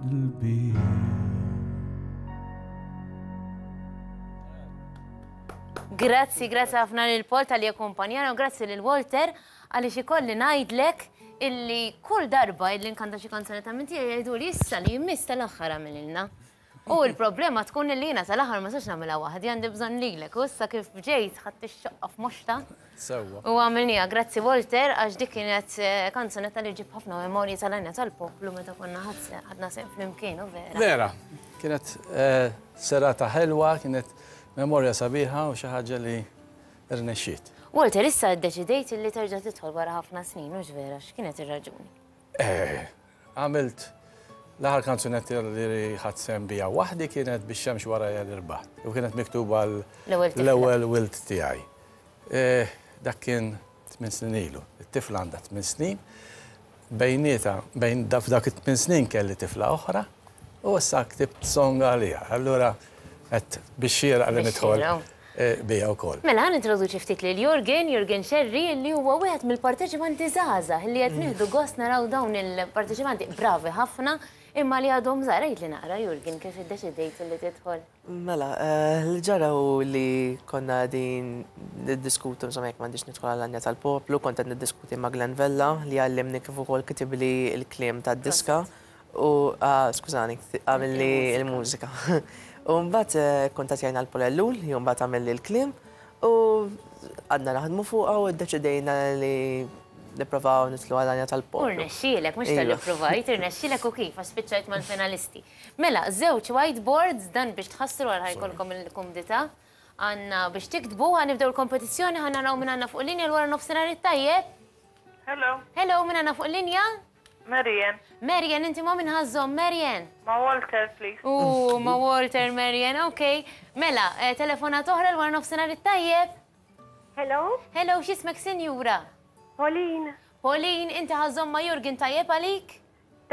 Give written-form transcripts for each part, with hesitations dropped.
qalbi. Grazzi, grazzi ħafna lil Paul tal-li akkumpanjana u grazzi lil Walter għaliex ikolli ngħidlek illi kull darba illi nkanta xi kanzunetta minn tiegħi jgħidu li issa li jmiss tal-aħħar għamililna. U l-problema tkun li jiena tal-aħħar ma sax nagħmilha waħdi għandi bżonn lilek u issa kif ġejt ħadd ix-xoqqa f'moxta. Sewwa. U għamilniha, grazzi Walter għax dik kienet eh, kanzunetta li ġib ħafna memorji tal-għajna tal-poplu meta konna ħadna sehem flimkien u vera. Vera, kienet eh, serata ħelwa, kienet memorja sabiħa u xi ħaġa li rnexxiet. Walter, issa ddeċidejt li terġa' tidħol wara ħafna snin, hux vera, x'kienet ir-raġuni? Eh, Għamilt l-aħħar kanzunetta li ħadt sehem biha waħdi kienet Bix-xemx warajja li rbaħt u kienet miktuba l-ewwel wild tiegħi. Eh, dak kien tmien snin ilu. It-tifla għandha tmien snin. Bejnieta, bejn f'dak it-tmien snin kelli tifla oħra u issa ktibt song għaliha. Allura qed biex xieraq li nidħol. Bija wkoll. Mela, ħa nintroduċi ftit lil Jurgen, Jurgen Scerri, li huwa wieħed mill-parteċipanti żgħażagħ li qed nieħdu gost naraw dawn il-parteċipanti bravi ħafna imma li għadhom żgħar. Għidli naqra Jurgen kif iddeċidejt li tidħol. Mela, li ġara hu li konna qegħdin niddiskutu insomma jekk m'għandix nidħol għall-Għanja tal-Poplu, kont qed niddiskuti ma' Glenn Vella li għallimni kif ukoll kitibli l-kliem tad-diska. U, skużani, għamilli l-mużika. U mbagħad kuntattjajna l-Paul Ellul, li mbagħad għamilli l-kliem, u għadna naħdmu fuqha u ddeċidejna li nipprovaw nidħlu għal-għanja tal-poplu. U rnexxielek, mhux talli ppruvajt, irnexxielek u kif, għax spiċċajt mal-finalisti. Mela, żewġ whiteboards, dan biex tħassru għal ħa jkollkom il-kumdità. Għandna biex tiktbu, ħa nibdew il-kompetizzjoni, ħa naraw min għandna fuq il-linja l-wara nofsinhar it-tajjeb. Hello. Hello, min għandna fuq il-linja? Marian. Marian, inti ma' min ħa żżomm, Marian? Ma' Walter, please. U ma' Walter, Marian, ok. Mela, eh, telefonat oħra l-wara nofsinhar it-tajjeb. Hello. Hello, x'ismek sinjura? Pauline. Pauline, inti ħa żżomm ma' Jurgen tajjeb għalik?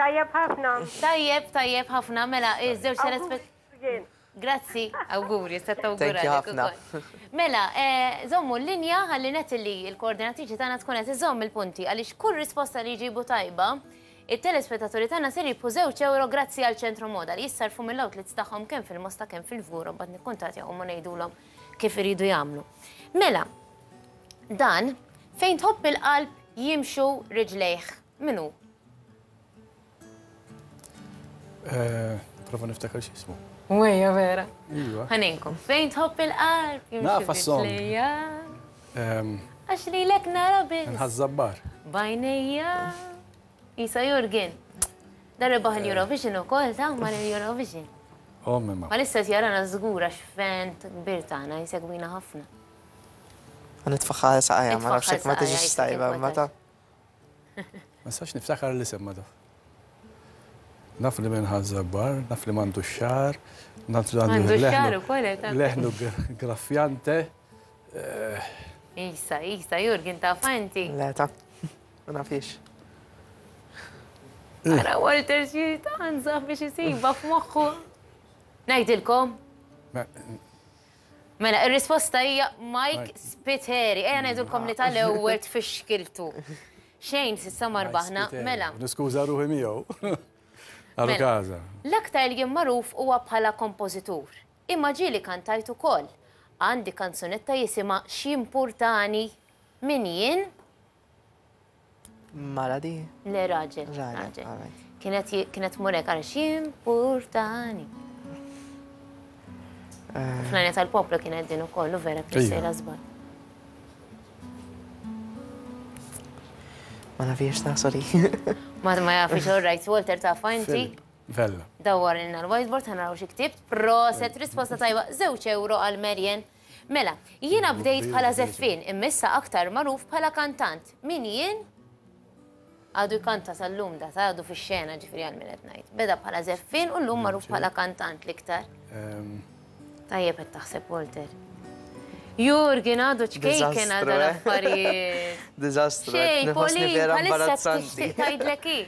Tajjeb ħafna. Tajjeb, tajjeb ħafna, mela, iż-żewġ telespett. Grazzi, awguri, se tawgura. ħafna. Mela, eh, żommu l-linja ħalli Natalie, il-koordinatriċi tagħna tkun qed iżomm il-punti għaliex kull risposta li jġibu tajba, it-telespettaturi tagħna ser jibħu żewġ euro grazzi għal Ċentru Moda li jissarfu mill-outlets tagħhom kemm fil-Mosta kemm fil-Fgura mbagħad nikkuntattjahom u ngħidulhom kif iridu jagħmlu. Mela, dan fejn tħobb il-qalb jimxu riġlejh. Min hu? Eh, prova niftakar x'ismu. Wejja vera. Iva. Ħaninkom, fejn tħobb il-qalb? Nafa s-song. Ehm. Għax li lek nara biss. Nħazzabbar. Bajnejja. Isa Jurgen. Dar rebaħ il-Eurovision u kol, ta' mar il-Eurovision. Oh, mimma. Ma lissa jarana żgur għax fent kbir tagħna jsegwina ħafna. Nitfaħħa saqajja, ma nafx ma tiġix tajba, ma ta' Ma nistax niftakar l-isem ma taf. Naf li minn ħażabbar, naf li m'għandu xar, naf li għandu xar ukoll eh, leħnu graffjante. Eh. Isa, Isa, Jurgen taf inti. Le ta' ma nafix. Ara Walter xi tanza biex isiba f'moħħu. Ngħidilkom. Mela, ir-risposta hija Mike Spiteri. Ejja ngħidulkom li tal-ewwel tfixkiltu. Xejn s'issa ma rbaħna. Mela. Niskuża ruħi miegħu. Għalu Mela. każa. L-aktar li jien magħruf huwa bħala kompożitur. Imma ġieli kantajt ukoll. Għandi kanzunetta jisimha X'jimpurtani min jien? Mara di? Le raġel. Raġel, alright. Kienet kienet murek għal x'impurtani. Eh. Fl-għajna tal-poplu kienet din ukoll u vera kien sejra żball. Ma nafix ta' sorry. Ma ma jafix, all right, Walter ta' inti. Vella. Dawwar ilna l-whiteboard ħanaraw xi ktibt. Proset, risposta tajba, żewġ euro għal Marian. Mela, jiena bdejt bħala żeffien imma issa aktar magħruf bħala kantant. Min jien? Għadu jkanta sal-lum da, ta' għadu fix-xena ġifieri għal min qed ngħid. Beda bħala żeffien u llum magħruf bħala kantant l-iktar. Ehm. Tajjeb qed taħseb Walter. Jurgen għadu ċkejken għal eh? l-affarijiet. Diżastru. Xej, Pauline, bħalissa tixtieq tgħidlek hi.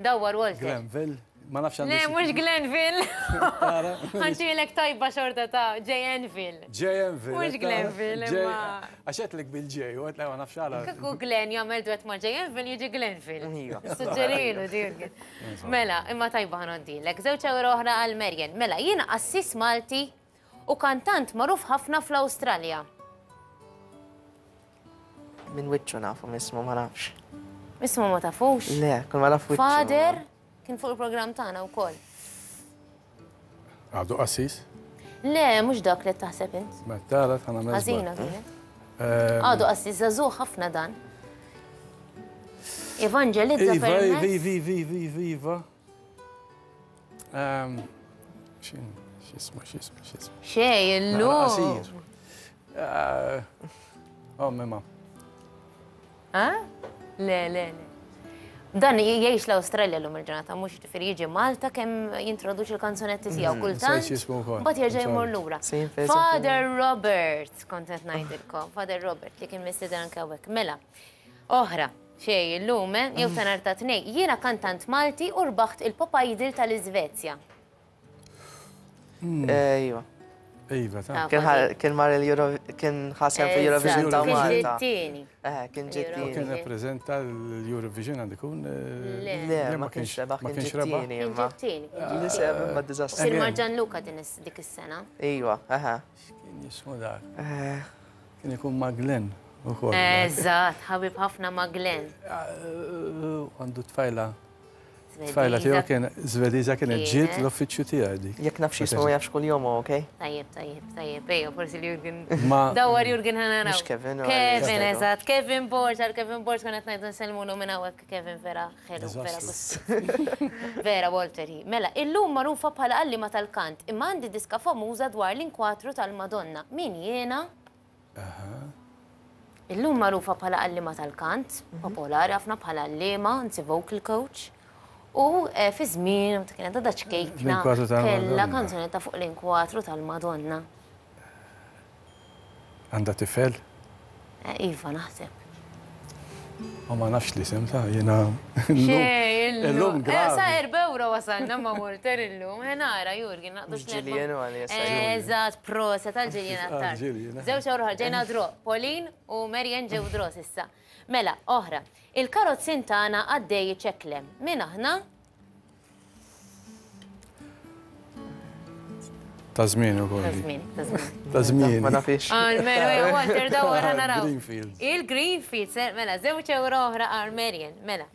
Dawwar Walter. Glenville. Ma nafx Le, mhux Glenville. Ħantilek tajba xorta ta' JNville. JNville. Mhux Glenville, imma. Għax għedtlek bil-J, u għedtlek ma nafx għala. Kieku Glenn jagħmel duett ma' JNville jiġi Glenville. Iva. Suġġerilu din. Mela, imma tajba ħanoddilek. Żewġ euro oħra għal Marian. Mela, jiena qassis Malti u kantant magħruf ħafna fl-Awstralja. Minn wiċċu nafu, mismu ma nafx. Mismu ma tafux? Le, kull ma naf wiċċu. Father kien fuq il-programm tagħna wkoll. Għadu qassis? Le, mhux dak li taħseb int. Ma tara tagħna mezz. Ħażina kienet. Għadu qassis żagħżugħ ħafna dan. Evangelizza Iva, iva, iva, iva, iva, iva. Ehm, x'ismu, x'ismu, x'ismu. Xej, illum. Eh, oh, mema. Ha? Le, le, le. Dan jgħix l-Awstralja l-lum il-ġurnata, mhux ġifieri jiġi Malta kemm jintroduċi l-kanzunetti tiegħu mhm, kultant. Mbagħad jerġa' jmur lura. Father Robert, kont qed ngħidilkom, Father Robert li kien mistieden anke hawnhekk. Mela, oħra. Xej, illum, eh? Jew ta' nhar ta' Tnejn. Jiena kantant Malti u rbaħt il-Pop Idol tal-Iżvezja. Iva. Iva, ta' Kien mar il-Euro, kien ħasem fil-Eurovision ta' Kien Malta. ġittini. Eh, kien ġittini. Kien rappreżenta l-Eurovision għandu jkun. Le, ma kienx rebaħ, kien ġittini. Kien ġittini. Li seb imma diżastru. Kien mar Gianluca din dik is-sena. Iva, aha. X'kien jismu dak? Kien ikun ma' Glenn ukoll. Eżatt, ħabib ħafna ma' Glenn. Għandu tfajla. Tfajla tiegħu kien Zvediża kienet ġiet l-uffiċċju tiegħi dik. Jekk naf x'jismu jaf x'kuljom hu, okej? Tajjeb, tajjeb, tajjeb, ejja, forsi li Jurgen. Dawar Jurgen ħa naraw. Mhux Kevin. Kevin, eżatt, Kevin Borg, għal Kevin Borg kien qed ngħidu nsellmulu minn hawnhekk Kevin vera ħelu, vera Vera Walter hi. Mela, illum magħrufa bħala għalliema tal-kant, imma għandi diska famuża dwar l-inkwatru tal-Madonna. Min jiena? Illum magħrufa bħala għalliema tal-kant, popolari ħafna bħala għalliema, anzi vocal coach. U eh, fi żmien meta kienet għadha ċkejkna kellha kanzunetta fuq l-inkwatru tal-Madonna. Għandha tifel? Eh, iva, naħseb. Ma ma nafx li sem ta' jena. Xej, illum. Eh, sa' erba euro wasalna ma' Walter illum. Eh, nara, Jurgen, naqdu Ġilien u għalli. Eżatt, prosa tal-ġilien għattar. Zewċ euro ġejna dro. Pauline u Marian ġew dro sissa. Mela, oħra. Il-karozzin tagħna għaddej iċeklem. Min aħna? Ta' żmien ukoll. Ta' żmien, ta' żmien. Ta' żmien. Ma nafix. Għal-menu, ja, Walter, dawar naraw. Greenfield. Il-Greenfield, mela, żewġ euro oħra għal Marian, mela.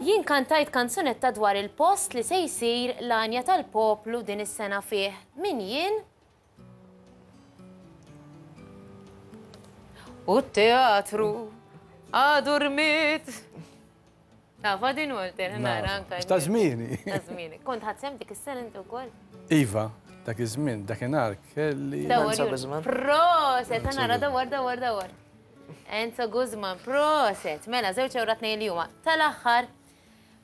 Jien kantajt kanzunetta dwar il-post li se jsir l-għanja tal-poplu din is-sena fih. Min jien? U t-teatru għadu rmit. Tafa din Walter, nara anka. Ta' żmieni. Ta' żmieni. Kont ħadd sem dik is-sena inti wkoll? Iva, dak iż-żmien, dakinhar kelli. Enzo Guzman. Proset, nara dawar, dawar, dawar. Enzo Guzman, proset. Mela, żewġ ewra tnejn li huma. Tal-aħħar,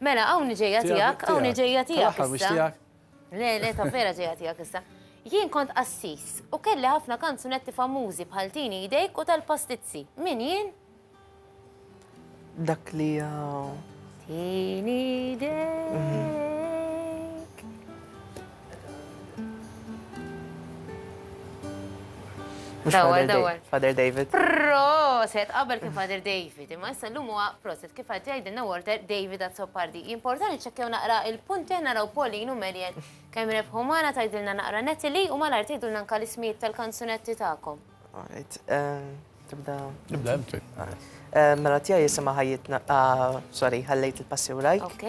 mela hawn ġejja tiegħek, hawn ġejja tiegħek. Tal-aħħar mhux tiegħek. Le, le, ta' vera ġejja tiegħek issa. Jien kont qassis u kelli ħafna kanzunetti famużi bħal Tini Idejk u tal-Pastizzi. Min jien? Dak li Tini idejk. Dawar, dawar. Father David. Proset, qabel kien Father David, imma issa llum huwa proset kif qed jgħidilna Walter David Azzopardi. Importanti ċekkjaw naqra il-punti naraw Pauline u Marian kemm rebħu magħna tgħidilna naqra Natalie u malajr tgħidulna anke l-ismijiet tal-kanzunetti tagħkom. Alright, ehm, tibda. Nibda inti. Ehm, mela tiegħi jisimha ħajjitna, ah, sorry, ħallejt il-passi warajk. Ok.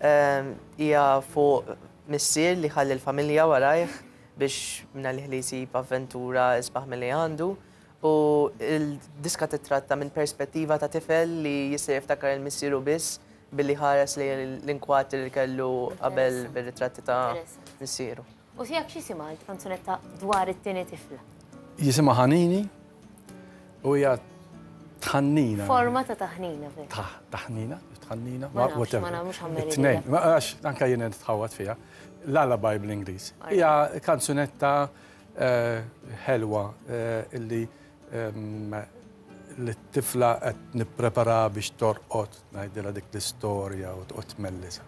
Ehm, hija fuq missier li ħalli l-familja warajh biex minna li jsib avventura isbaħ milli għandu. U l-diska titratta minn perspettiva ta' tifel li jista' jiftakar il-missieru biss billi ħares li l-inkwatri li kellu qabel bir-ritratti ta' missieru. U tiegħek x'jisimha l-kanzunetta dwar it-tieni tifla? Jisimha Ħanini u hija tħannina. Forma ta' taħnina vera. Taħnina, tħannina, ma nafx, ma nafx ħammeri. Tnejn, għax anka jien nitħawad fiha. Lullaby bl-Ingliż. Hija kanzunetta eh, ħelwa eh, illi ehm, li t-tifla qed nipprepara biex torqod ngħidilha dik l-istorja u toqgħod tmellisa.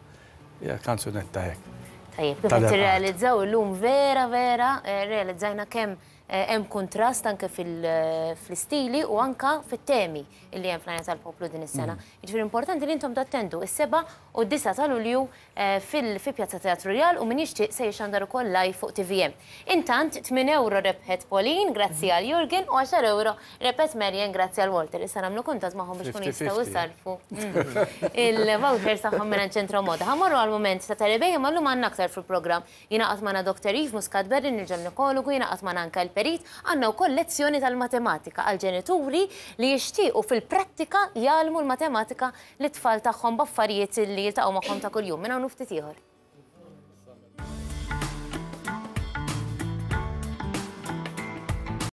Hija kanzunetta hekk. Tajjeb, kif qed tirrealizzaw illum vera vera rrealizzajna kemm hemm kuntrast anke fl-istili u anke fit-temi illi hemm fl-Għanja tal-Poplu din is-sena. Jiġifieri importanti li intom tattendu is-7 u d-9 ta' Lulju fi Pjazza Teatru Rjal u min jixtieq se jixxandar ukoll live fuq tvm. Intant, 8 ewro rebħet Pauline grazzi għal Jurgen u 10 ewro rebħet Marian grazzi għal Walter. Issa nagħmlu kuntatt magħhom biex ikunu jistgħu jsarrfu il-vouchers tagħhom mingħand Ċentro Moda. Ħa mmorru għall-mument ta' Terry imma llum għandna aktar fil-programm. Jingħaqad magħna Doctor Yves Muscat Berrin, il-ġenekologu, jingħaqad magħna anke l-perit. Għandna wkoll lezzjoni tal-matematika għall-ġenituri li jixtiequ fil-prattika jgħallmu l-matematika lit-tfal tagħhom b'affarijiet li jiltaqgħu magħhom ta' kuljum. Minn hawn u ftit ieħor.